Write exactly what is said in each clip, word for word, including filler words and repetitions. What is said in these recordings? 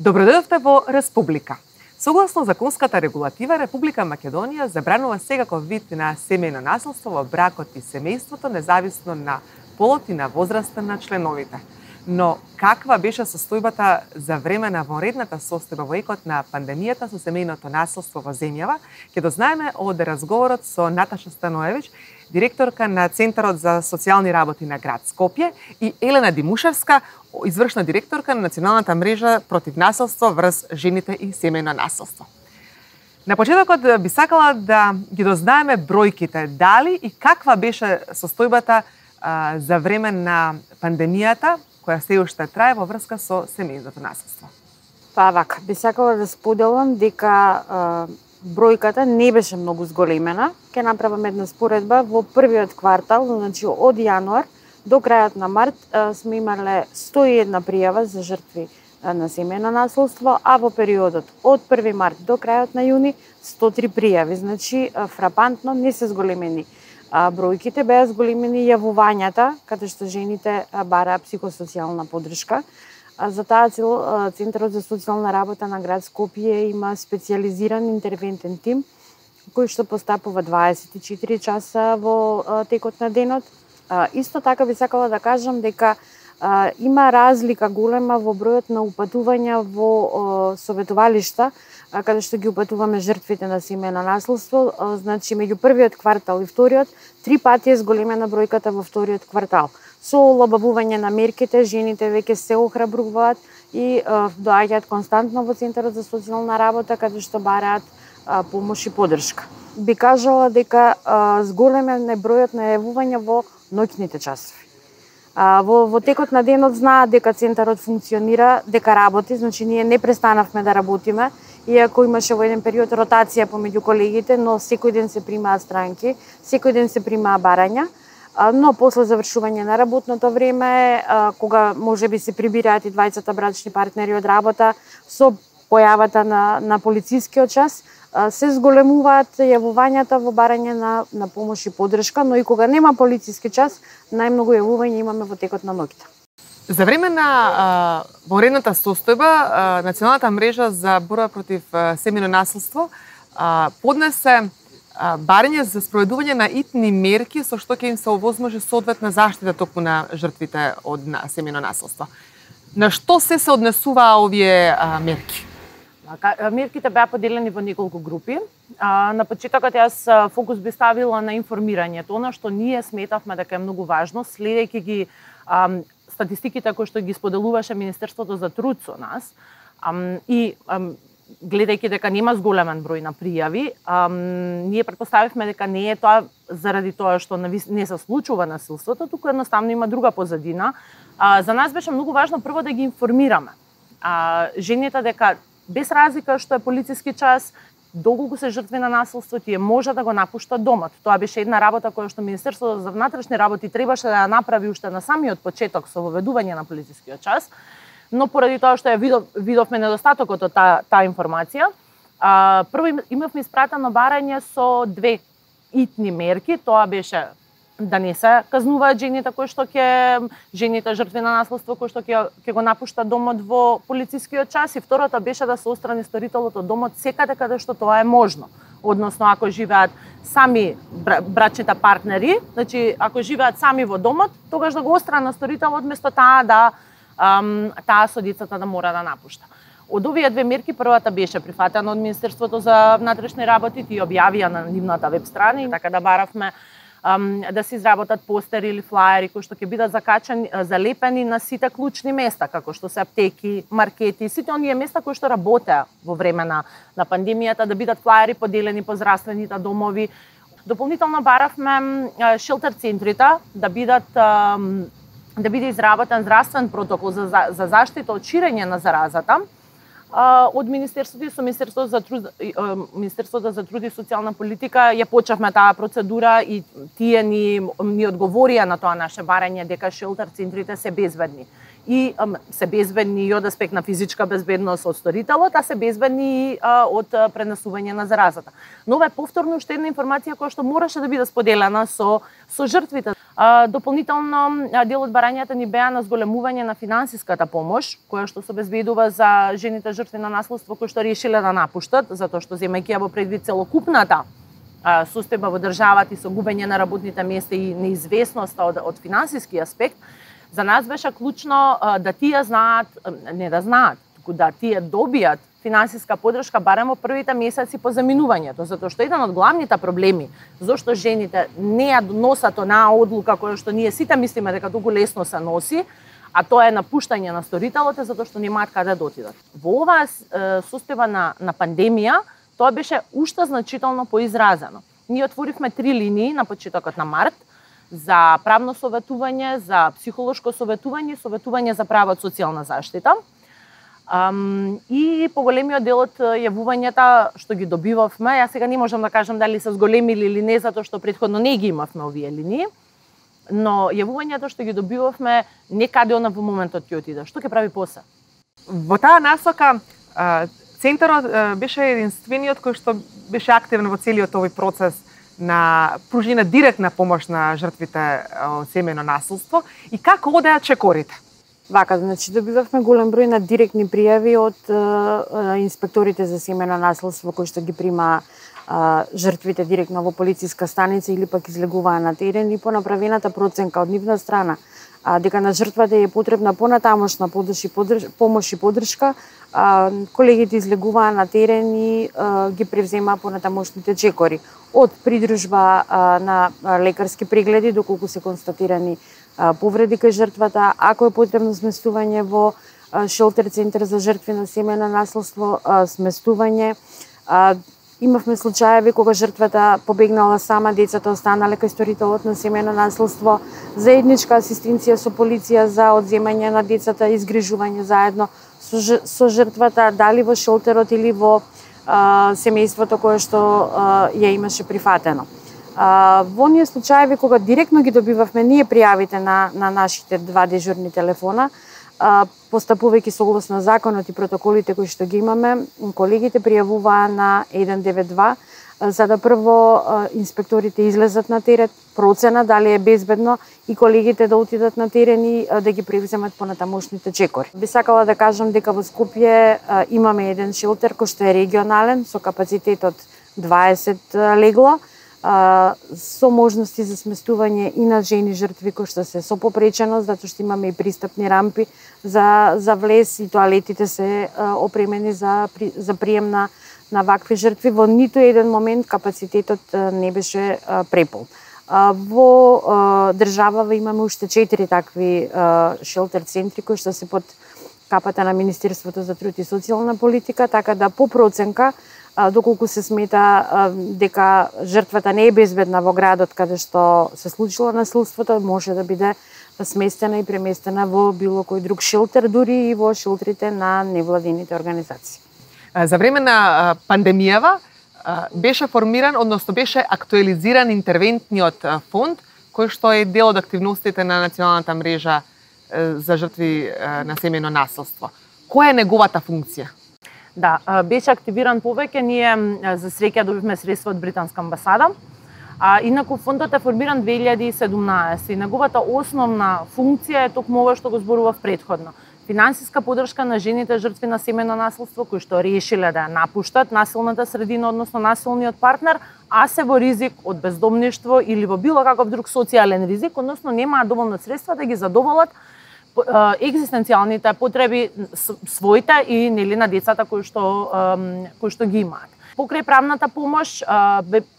Добродојдовте во Республика. Согласно законската регулатива, Република Македонија забранува секаков вид на семејно насилство во бракот и семејството, независно на полот и на возраста на членовите. Но каква беше состојбата за време на вонредната состојба во екот на пандемијата со семејното насилство во земјава, ќе дознаеме од разговорот со Наташа Станоевич, директорка на Центарот за социјални работи на град Скопје, и Елена Димушевска, извршна директорка на Националната мрежа против насилство врз жените и семејно насилство. На почетокот би сакала да ги дознаеме бројките, дали и каква беше состојбата а, за време на пандемијата, која се уште трае во врска со семејното насилство. Па вака, би сакала да споделам дека а, бројката не беше многу зголемена. Ке направам една споредба. Во првиот квартал, значи од јануар до крајот на март, сме имале сто и една пријава за жртви на семејно насилство, а во периодот од први март до крајот на јуни сто и три пријави. Значи, фрапантно не се зголемени бројките, беа зголемени јавувањата, каде што жените бараа психосоцијална поддршка. За таа цел Центарот за социјална работа на град Скопје има специјализиран интервентен тим кој што постапува дваесет и четири часа во текот на денот. Исто така би сакала да кажам дека а, има разлика голема во бројот на упатувања во а, советувалишта, а, каде што ги упатуваме жртвите на семејно насилство. А, значи, меѓу првиот квартал и вториот, три пати е зголемена бројката во вториот квартал. Со олабавување на мерките, жените веќе се охрабруваат и а, доаѓаат константно во Центарот за социјална работа, каде што бараат а, помош и поддршка. Би кажала дека а, зголемен е бројот на јавувања во ноќните часови. А, во, во текот на денот знаат дека Центарот функционира, дека работи, значи ние не престанавме да работиме, иако имаше во еден период ротација помеѓу колегите, но секој ден се примаат странки, секој ден се примаа барања, а, но после завршување на работното време, а, кога можеби се прибираат и двајцата брачни партнери од работа, со појавата на, на полицискиот час, се зголемуваат јавувањата во барање на, на помош и поддршка, но и кога нема полициски час, најмногу јавувања имаме во текот на ноќта. За време на вонредната состојба, а, Националната мрежа за борба против а, семејно насилство а, поднесе а, барање за спроведување на итни мерки со што ќе им се овозможи соодветна заштита токму на жртвите од на семејно насилство. На што се се однесуваа овие а, мерки? Мерките беа поделени во неколку групи. На почетокот јас фокус би ставила на информирањето, она што ние сметавме дека е многу важно, следејќи ги а, статистиките кои што ги споделуваше Министерството за труд со нас а, и а, гледајќи дека нема зголемен број на пријави, а, ние претпоставивме дека не е тоа заради тоа што не се случува насилството, туку едноставно има друга позадина. А, за нас беше многу важно прво да ги информираме а, жените дека без разлика што е полициски час, доколку се жртви на насилство, тие може да го напуштат домот. Тоа беше една работа која што Министерството за внатрешни работи требаше да ја направи уште на самиот почеток со воведување на полицискиот час, но поради тоа што ја видов, видовме недостатокот од таа та информација, а, прво имавме испратено барање со две итни мерки. Тоа беше да не се казнуваат жените кои што ќе жените жртви на насилство кои што ќе ќе го напуштат домот во полицискиот час, и второто беше да се отстрани сторителот од домот секаде каде што тоа е можно. Односно, ако живеат сами брачните партнери, значи ако живеат сами во домот, тогаш да го отстрани сторителот место таа да ам, таа со децата да мора да напушта. Од овие две мерки, првата беше прифатена од Министерството за внатрешни работи, тие објавија на нивната веб страна, така да баравме да се изработат постери или флаери кои што ќе бидат закачани, залепени на сите клучни места, како што се аптеки, маркети, сите оние места кои што работеа во време на, на пандемијата, да бидат флаери поделени по здравствените домови. Дополнително баравме шелтер центрите да бидат да биде изработен здравствен протокол за, за заштита од ширење на заразата. Од Министерството и со Министерството за труд, Министерството за труд и социјална политика ја почнавме таа процедура и тие ни ни одговорија на тоа наше барање дека шелтер центрите се безбедни. И се безбедни и од аспект на физичка безбедност од сторителот, а се безбедни и од пренесување на заразата. Но ова е повторно уште една информација која што мораше да биде споделена со со жртвите. Дополнително, дел од барањата ни беа на зголемување на финансиската помош, која што се обезбедува за жените жртви на насилство кои што решиле да напуштат, затоа што земајќи ја во предвид целокупната состојба во државата и со губење на работните места и неизвестноста од, од финансиски аспект, за нас беше клучно да тие знаат, не да знаат, туку да тие добијат финансиска поддршка барем во првите месеци по заминувањето, затоа што еден од главните проблеми зошто жените не ја носат онаа одлука која што ние сите мислиме дека толку лесно се носи, а тоа е напуштање на сторителот, затоа што немаат каде да отидат. Во оваа состојба на, на пандемија, тоа беше уште значително поизразено. Ние отворивме три линии на почетокот на март за правно советување, за психолошко советување, советување за права од социјална заштита. Um, и поголемиот дел од јавувањата што ги добивавме, јас сега не можам да кажам дали се зголемили или не, затоа што претходно не ги имавме овие линии, но јавувањата што ги добивавме некаде она во моментот ќе отиде. Што ќе прави после? Во таа насока, центарот беше единствениот кој што беше активен во целиот овој процес на пружина директна помош на жртвите од семејно насилство и како одеа чекорите? Вака, значи добивавме голем број на директни пријави од е, е, инспекторите за семејно насилство кои што ги прима е, жртвите директно во полициска станица или пак излегуваа на терен и по направената проценка од нивна страна а, дека на жртвата е потребна понатамошна помош и поддршка, а, колегите излегуваа на терен и а, ги превземаа понатамошните чекори од придружба а, на лекарски прегледи доколку се констатирани повреди кај жртвата, ако е потребно сместување во шелтер центар за жртви на семејно насилство, сместување. Имавме случаеви кога жртвата побегнала сама, децата останале кај сторителот на семејно насилство, заедничка асистенција со полиција за одземање на децата, изгрижување заедно со жртвата, дали во шелтерот или во семејството кое што ја имаше прифатено. Uh, во оние случаеви кога директно ги добивавме ние пријавите на, на нашите два дежурни телефона, uh, постапувајќи согласно законот и протоколите кои што ги имаме, колегите пријавуваа на еден девет два, uh, за да прво uh, инспекторите излезат на терен, процена дали е безбедно и колегите да отидат на терен и uh, да ги превземат понатамошните чекори. Би сакала да кажам дека во Скопје uh, имаме еден шелтер кој што е регионален со капацитет од дваесет uh, легла, Uh, со можности за сместување и на жени жртви кои што се со попреченост, затоа што имаме и пристапни рампи за, за влез и тоалетите се uh, опремени за, за прием на, на вакви жртви. Во ниту еден момент капацитетот uh, не беше uh, препол. Uh, во uh, државава имаме уште четири такви uh, шелтер центри кои што се под капата на Министерството за труд и социјална политика, така да по проценка доколку се смета дека жртвата не е безбедна во градот каде што се случило насилството, може да биде сместена и преместена во било кој друг шелтер, дури и во шелтерите на невладините организации. За време на пандемијава беше формиран, односно беше актуализиран интервентниот фонд, кој што е дел од активностите на националната мрежа за жртви на семејно насилство. Која е неговата функција? Да, беше активиран повеќе, ние за среќа добивме средства од британска амбасада. А, инаку фондот е формиран две илјади и седумнаесета и неговата основна функција е токму ова што го зборував претходно. Финансиска поддршка на жените жртви на семејно насилство кои што решиле да ја напуштат насилната средина, односно насилниот партнер, а се во ризик од бездомништво или во било каков друг социјален ризик, односно немаат доволно средства да ги задоволат екзистенцијалните потреби своите и нели на децата кои што кои што ги имаат. Покрај правната помош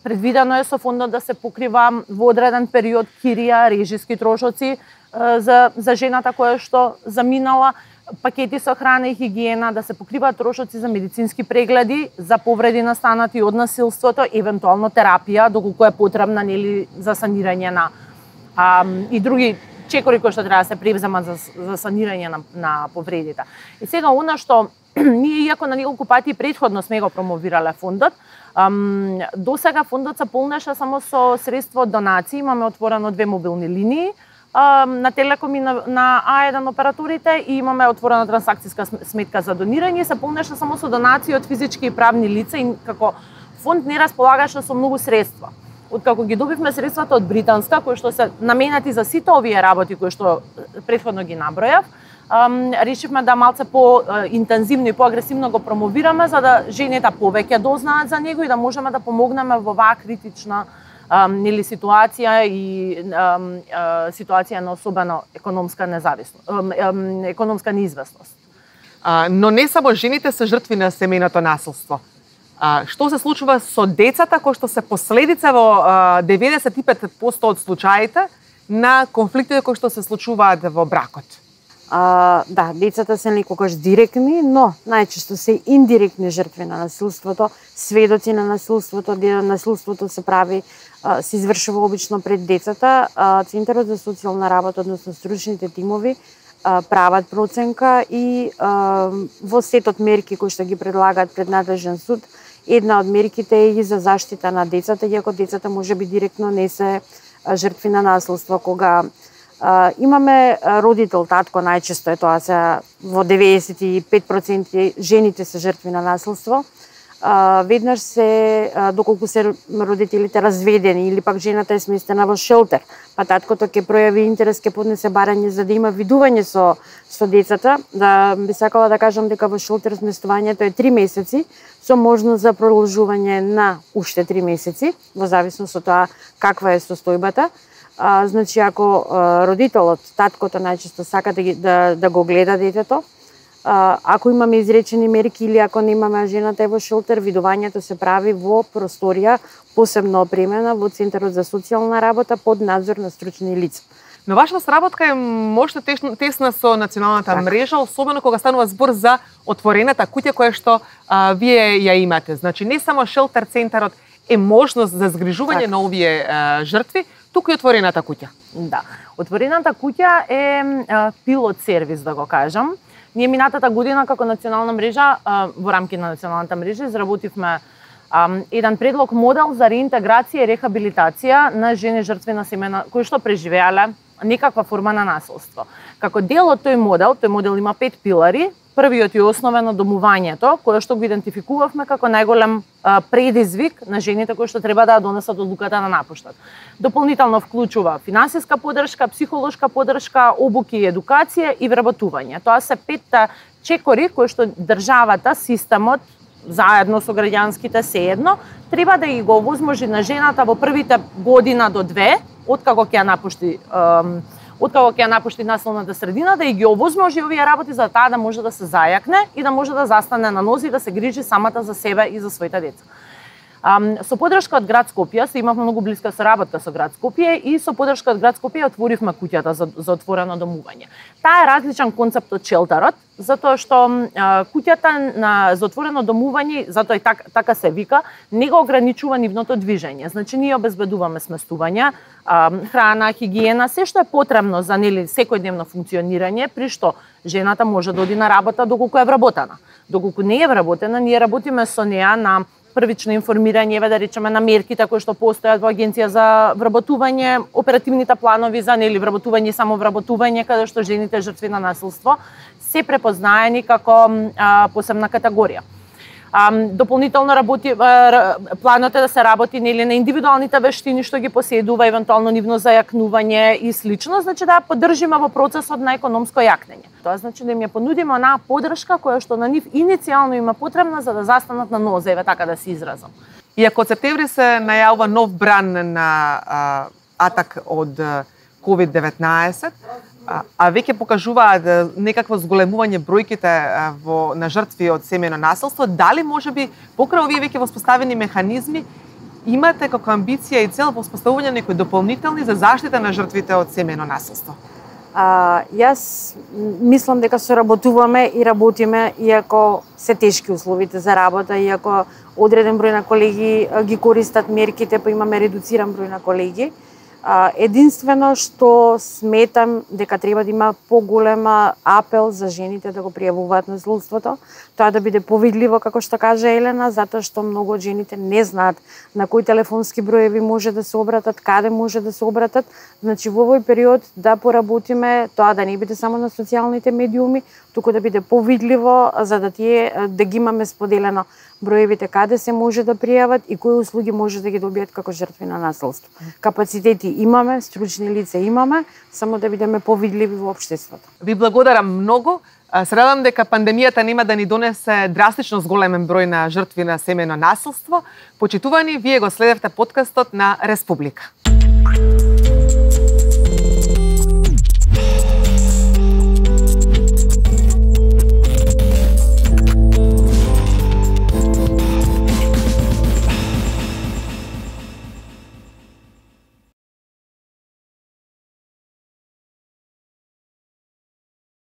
предвидено е со фондот да се покрива во одреден период кирија, режиски трошоци за за жената која што заминала, пакети со храна и хигиена, да се покриваат трошоци за медицински прегледи, за повреди настанати од насилството, евентуално терапија доколку е потребна нели за санирање на а, и други чекори кои што треба да се превземат за, за санирање на, на повредите. И сега она што ние, иако на неколку пати претходно сме го промовирале фондот, ам, до сега фондот се полнеше само со средства од донации. Имаме отворено две мобилни линии ам, на Телеком и на, на А еден операторите и имаме отворена трансакцијска сметка за донирање. Се полнеше само со донации од физички и правни лица и како фонд не располагаше со многу средства. откако ги добивме средствата од британска, кои што се наменети за сите овие работи кои што претходно ги набројав, решивме да малце по-интензивно и по-агресивно го промовираме, за да жените повеќе дознаат за него и да можеме да помогнеме во оваа критична нели ситуација и ситуација на особено економска независност, економска неизвестност. Но не само жените се жртви на семејното насилство. Што се случува со децата кои што се последица во деветдесет и пет проценти од случаите на конфликтите кои што се случуваат во бракот? А, да, децата се никогаш директни, но најчесто се индиректни жртви на насилството, сведоци на насилството, насилството се прави, се извршува обично пред децата. Центарот за социјална работа, односно стручните тимови, прават проценка и во сетот мерки кои што ги предлагаат пред надлежен суд, една од мерките е и за заштита на децата, иако децата можеби директно не се жртви на насилство, кога Uh, имаме родител, татко, најчесто е тоа се во деветдесет и пет проценти жените се жртви на насилство. Uh, веднаш се, uh, доколку се родителите разведени или пак жената е сместена во шелтер, па таткото ќе пројави интерес, ќе поднесе барање за да има видување со, со децата. Да, би сакала да кажам дека во шелтер сместувањето е три месеци, со можност за продолжување на уште три месеци, во зависност од тоа каква е состојбата. А, значи, ако а, родителот, таткото најчесто сака да, да, да го гледа детето, а, ако имаме изречени мерки или ако не имаме, жената е во шелтер, видувањето се прави во просторија посебно опремена во Центарот за социјална работа под надзор на стручни лица. Но вашата сработка е можна тесна со националната так. мрежа, особено кога станува збор за отворената куќа која што а, вие ја имате. Значи, не само шелтер центарот е можност за згрижување так. на овие а, жртви, туку и отворената куќа. Да. Отворената куќа е а, пилот сервис, да го кажам. Ние минатата година како национална мрежа, а, во рамки на националната мрежа, изработивме а, еден предлог модел за реинтеграција и рехабилитација на жени жртви на семејна кои што преживеале некаква форма на насилство. Како дел од тој модел, тој модел има пет пилари. Првиот е основено домувањето, кое што го идентификувавме како најголем а, предизвик на жените кои што треба да донесат одлуката да напуштат. Дополнително вклучува финансиска поддршка, психолошка поддршка, обуки и едукација и вработување. Тоа се петта чекори кои што државата, системот, заедно со граѓанските sejedno, треба да ги го овозможи на жената во првите година до две, откако ќе ја напушти откако ќе ја напушти насилната средина, да и ги овозможи овие работи за таа да може да се зајакне и да може да застане на нози и да се грижи самата за себе и за своите деца. Um, со поддршка од град Скопје, се имавме многу блиска соработка со град Скопје и со поддршка од град Скопје отворивме куќата за, за отворено домување. Таа е различен концепт од шелтерот, затоа што uh, куќата на, за отворено домување, затоа и так, така се вика, не го ограничува нивното движење. Значи, ние обезбедуваме сместување, uh, храна, хигиена, се што е потребно за нели секојдневно функционирање, при што жената може да оди на работа доколку е вработена. Доколку не е вработена, ние работиме со неа на првично информирање, да речеме, на мерките кои што постојат во Агенција за вработување, оперативните планови за нели вработување и самовработување, каде што жените жртви на насилство се препознаени како а, посебна категорија. А, дополнително работи а, планот е да се работи нели на индивидуалните вештини што ги поседува, евентуално нивно зајакнување и слично, значи да поддржиме во процесот на економско јакнење. Тоа значи да им ја понудиме онаа поддршка која што на нив иницијално има потребна за да застанат на нозе, еве така да се изразам. Иако од септември се најавува нов бран на а, атак од ковид деветнаесет, а, а веќе покажуваат некакво зголемување бројките во на жртви од семејно насилство, дали можеби покрај овие веќе воспоставени механизми имате како амбиција и цел воспоставување некои дополнителни за заштита на жртвите од семејно насилство? А, јас мислам дека соработуваме и работиме, иако се тешки условите за работа, иако одреден број на колеги ги користат мерките, па имаме редуциран број на колеги. Единствено што сметам дека треба да има поголема апел за жените да го пријавуваат насилството, тоа да биде повидливо, како што кажа Елена, затоа што многу од жените не знаат на кои телефонски броеви може да се обратат, каде може да се обратат. Значи во овој период да поработиме тоа да не биде само на социјалните медиуми, туку да биде повидливо, за да тие да ги имаме споделено броевите каде се може да пријават и кои услуги може да ги добијат како жртви на насилство. Капацитети имаме, стручни лица имаме, само да бидеме повидливи во општеството. Ви благодарам многу. Се радам дека пандемијата нема да ни донесе драстично зголемен број на жртви на семејно насилство. Почитувани, вие го следевте подкастот на Республика.